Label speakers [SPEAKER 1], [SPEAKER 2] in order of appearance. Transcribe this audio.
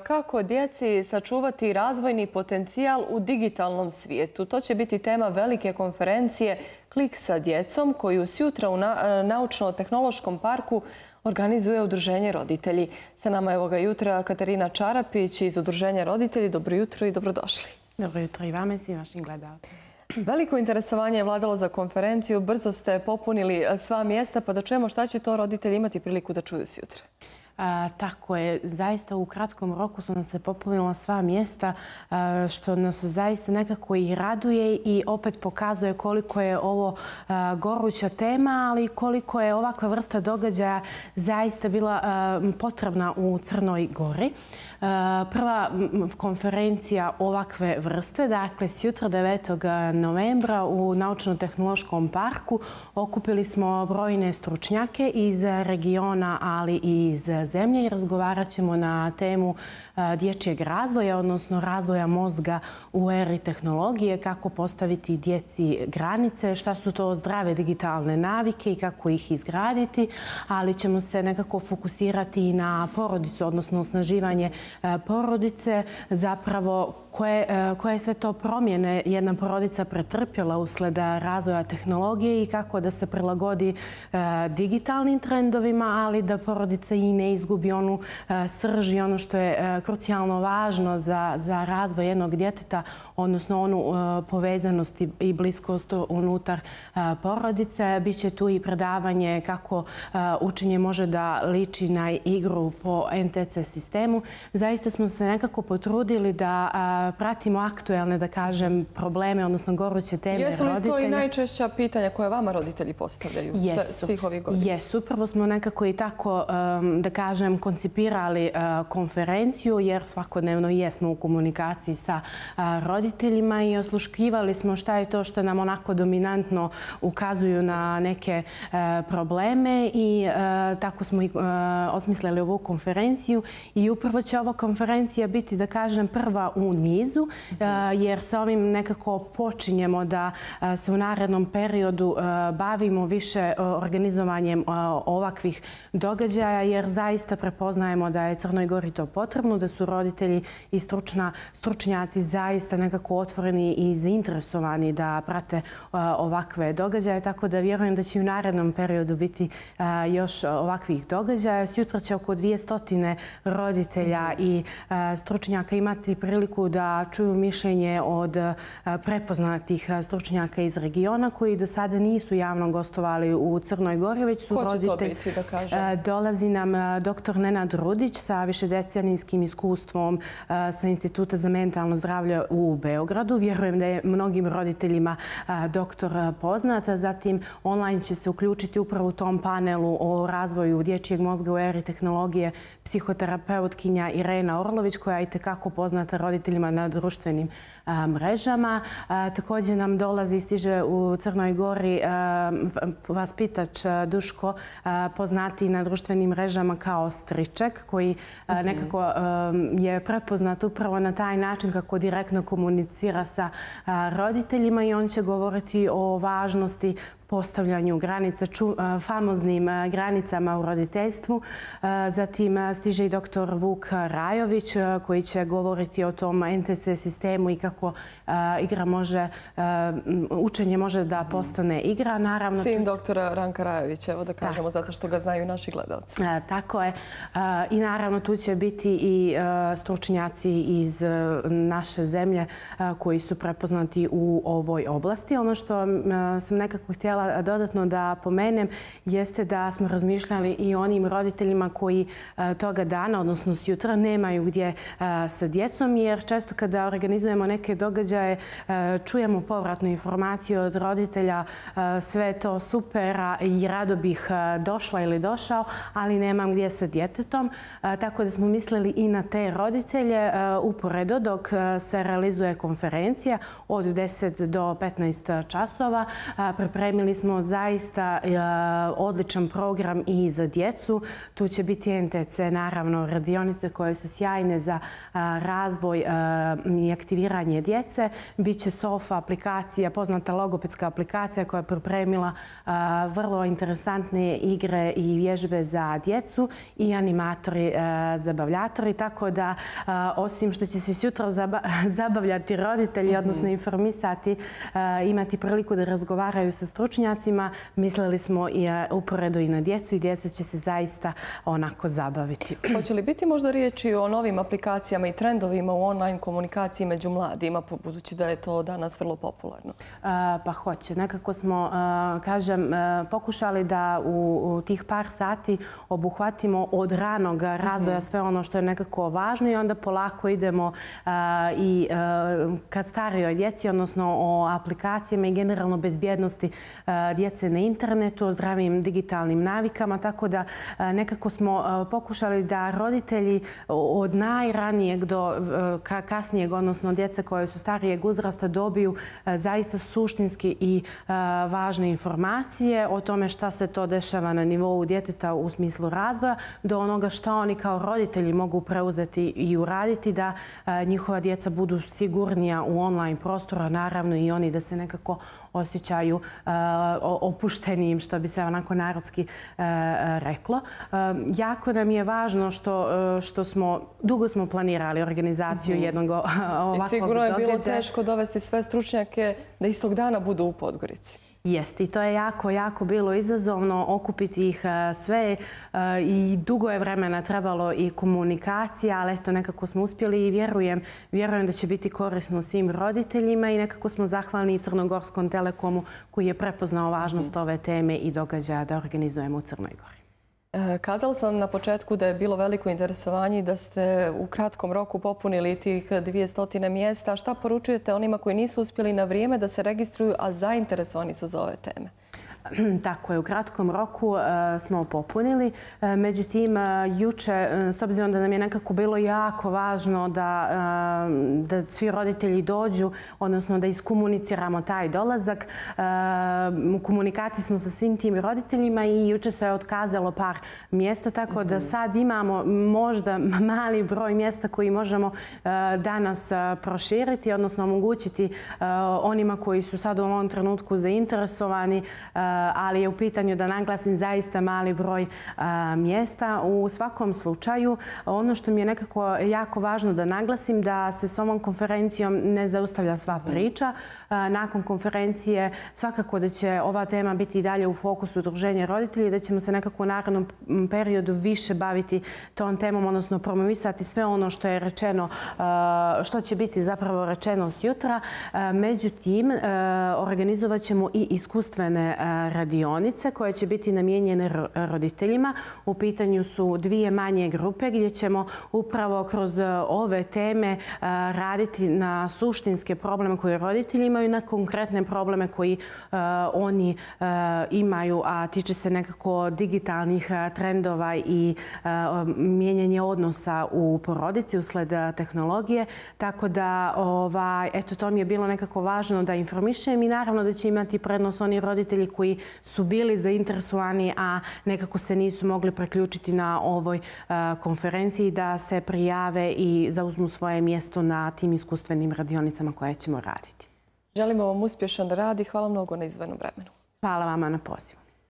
[SPEAKER 1] Kako djeci sačuvati razvojni potencijal u digitalnom svijetu? To će biti tema velike konferencije Klik sa djecom koju sjutra u Naučno-tehnološkom parku organizuje Udruženje roditelji. Sa nama je ovoga jutra Katarina Čarapić iz Udruženja roditelji. Dobro jutro i dobrodošli.
[SPEAKER 2] Dobro jutro i vama i svim vašim gledalcima.
[SPEAKER 1] Veliko interesovanje je vladalo za konferenciju. Brzo ste popunili sva mjesta, pa da čujemo šta će to roditelji imati priliku da čuju sjutra.
[SPEAKER 2] Tako je. Zaista u kratkom roku su nam se popunila sva mjesta, što nas zaista nekako i raduje i opet pokazuje koliko je ovo goruća tema, ali koliko je ovakva vrsta događaja zaista bila potrebna u Crnoj Gori. Prva konferencija ovakve vrste, dakle sjutra 9. novembra u Naučno-tehnološkom parku okupili smo brojne stručnjake iz regiona, ali i iz zemlje i razgovarat ćemo na temu dječjeg razvoja, odnosno razvoja mozga u eri tehnologije, kako postaviti djeci granice, šta su to zdrave digitalne navike i kako ih izgraditi, ali ćemo se nekako fokusirati i na porodicu, odnosno osnaživanje porodice, zapravo koje sve to promjene jedna porodica pretrpjela usled razvoja tehnologije i kako da se prilagodi digitalnim trendovima, ali da porodica i ne izgubi onu srž i ono što je krucijalno važno za razvoj jednog djeteta, odnosno onu povezanost i bliskost unutar porodice. Biće tu i predavanje kako učenje može da liči na igru po NTC sistemu. Zaista smo se nekako potrudili da pratimo aktuelne, da kažem, probleme, odnosno goruće teme roditelja.
[SPEAKER 1] Jesu li to i najčešća pitanja koje vama roditelji postavljaju svih ovih godina?
[SPEAKER 2] Jesu. Upravo smo nekako i tako, da kažem, koncipirali konferenciju, jer svakodnevno jesmo u komunikaciji sa roditeljima i osluškivali smo šta je to što nam onako dominantno ukazuju na neke probleme i tako smo i osmislili ovu konferenciju i upravo će ova konferencija biti, da kažem, prva u nizu, jer sa ovim nekako počinjemo da se u narednom periodu bavimo više organizovanjem ovakvih događaja, jer zaista prepoznajemo da je Crnoj Gori to potrebno, da su roditelji i stručnjaci zaista nekako otvoreni i zainteresovani da prate ovakve događaje, tako da vjerujem da će u narednom periodu biti još ovakvih događaja. Sjutra će oko 200 roditelja i stručnjaka imati priliku da čuju mišljenje od prepoznatih stručnjaka iz regiona koji do sada nisu javno gostovali u Crnoj Gori, već su roditelji.
[SPEAKER 1] Ko će to biti, da kažem?
[SPEAKER 2] Dolazi nam dr. Nenad Rudić sa višedecenijskim iskustvom sa Instituta za mentalno zdravlje u Beogradu. Vjerujem da je mnogim roditeljima doktor poznat. Zatim online će se uključiti upravo u tom panelu o razvoju dječjeg mozga u eri tehnologije psihoterapeutkinja Irena Orlović, koja je i tekako poznata roditeljima na društvenim mrežama. Također nam dolazi i stiže u Crnoj Gori vaspitač Duško, poznati na društvenim mrežama kao Striček, koji nekako je prepoznat upravo na taj način kako direktno komunicira sa roditeljima i on će govoriti o važnosti postavljanju granica, famoznim granicama u roditeljstvu. Zatim stiže i dr. Vuk Rajović koji će govoriti o tom NTC sistemu i kako učenje može da postane igra.
[SPEAKER 1] Sin doktora Ranka Rajovića, evo da kažemo, zato što ga znaju naši gledalci.
[SPEAKER 2] Tako je. I naravno tu će biti i stručnjaci iz naše zemlje koji su prepoznati u ovoj oblasti. Ono što sam nekako htjela dodatno da pomenem jeste da smo razmišljali i o onim roditeljima koji toga dana, odnosno sjutra, nemaju gdje sa djecom, jer često kada organizujemo neke događaje čujemo povratnu informaciju od roditelja, sve to super i rado bih došla ili došao, ali nemam gdje sa djetetom. Tako da smo mislili i na te roditelje uporedo dok se realizuje konferencija od 10 do 15 časova. Pripremili Pripremili smo zaista odličan program i za djecu. Tu će biti NTC, naravno, radionice koje su sjajne za razvoj i aktiviranje djece. Biće SOFA aplikacija, poznata logopedska aplikacija koja je pripremila vrlo interesantne igre i vježbe za djecu i animatori, zabavljatori. Tako da, osim što će se sutra zabavljati roditelji, odnosno informisati, imati priliku da razgovaraju sa stručnjacima, mislili smo i uporedo i na djecu i djeca će se zaista onako zabaviti.
[SPEAKER 1] Hoće li biti možda riječi o novim aplikacijama i trendovima u online komunikaciji među mladima, budući da je to danas vrlo popularno?
[SPEAKER 2] Pa hoće. Nekako smo, kažem, pokušali da u tih par sati obuhvatimo od ranog razvoja sve ono što je nekako važno i onda polako idemo i ka starijoj djeci, odnosno o aplikacijama i generalno bezbjednosti djece na internetu, o zdravim digitalnim navikama, tako da nekako smo pokušali da roditelji od najranijeg do kasnijeg, odnosno djece koje su starijeg uzrasta, dobiju zaista suštinski i važne informacije o tome šta se to dešava na nivou djeteta u smislu razvoja, do onoga šta oni kao roditelji mogu preuzeti i uraditi da njihova djeca budu sigurnija u online prostoru, naravno i oni da se nekako osjećaju opuštenijim, što bi se onako narodski reklo. Jako nam je važno što dugo smo planirali organizaciju jednog ovakvog događaja.
[SPEAKER 1] Sigurno je bilo teško dovesti sve stručnjake da istog dana budu u Podgorici.
[SPEAKER 2] Jest, i to je jako, jako bilo izazovno okupiti ih sve i dugo je vremena trebalo i komunikacija, ali eto nekako smo uspjeli i vjerujem da će biti korisno svim roditeljima i nekako smo zahvalni i Crnogorskom Telekomu koji je prepoznao važnost ove teme i događaja da organizujemo u Crnoj Gori.
[SPEAKER 1] Kazala sam na početku da je bilo veliko interesovanje i da ste u kratkom roku popunili tih 200 mjesta. Šta poručujete onima koji nisu uspjeli na vrijeme da se registruju, a zainteresovani su za ove teme?
[SPEAKER 2] Tako je, u kratkom roku smo popunili. Međutim, juče, s obzirom da nam je nekako bilo jako važno da svi roditelji dođu, odnosno da iskomuniciramo taj dolazak, u komunikaciji smo sa svim tim roditeljima i juče se je otkazalo par mjesta, tako da sad imamo možda mali broj mjesta koji možemo danas proširiti, odnosno omogućiti onima koji su sad u ovom trenutku zainteresovani, ali je u pitanju da naglasim zaista mali broj mjesta. U svakom slučaju, ono što mi je nekako jako važno da naglasim, da se s ovom konferencijom ne zaustavlja sva priča. Nakon konferencije svakako da će ova tema biti i dalje u fokusu udruženja roditelji, da ćemo se nekako u narednom periodu više baviti tom temom, odnosno promovisati sve ono što je rečeno, što će biti zapravo rečeno sjutra. Međutim, organizovat ćemo i iskustvene radionice koje će biti namijenjene roditeljima. U pitanju su dvije manje grupe gdje ćemo upravo kroz ove teme raditi na suštinske probleme koje roditelji imaju, na konkretne probleme koji oni imaju, a tiče se nekako digitalnih trendova i mijenjanje odnosa u porodici usled tehnologije. Tako da, eto, to mi je bilo nekako važno da informišem i naravno da će imati prednost oni roditelji koji su bili zainteresovani, a nekako se nisu mogli priključiti na ovoj konferenciji, da se prijave i zauzmu svoje mjesto na tim iskustvenim radionicama koje ćemo raditi.
[SPEAKER 1] Želimo vam uspješan rad i hvala mnogo na izdvojenom vremenu.
[SPEAKER 2] Hvala vama na pozivu.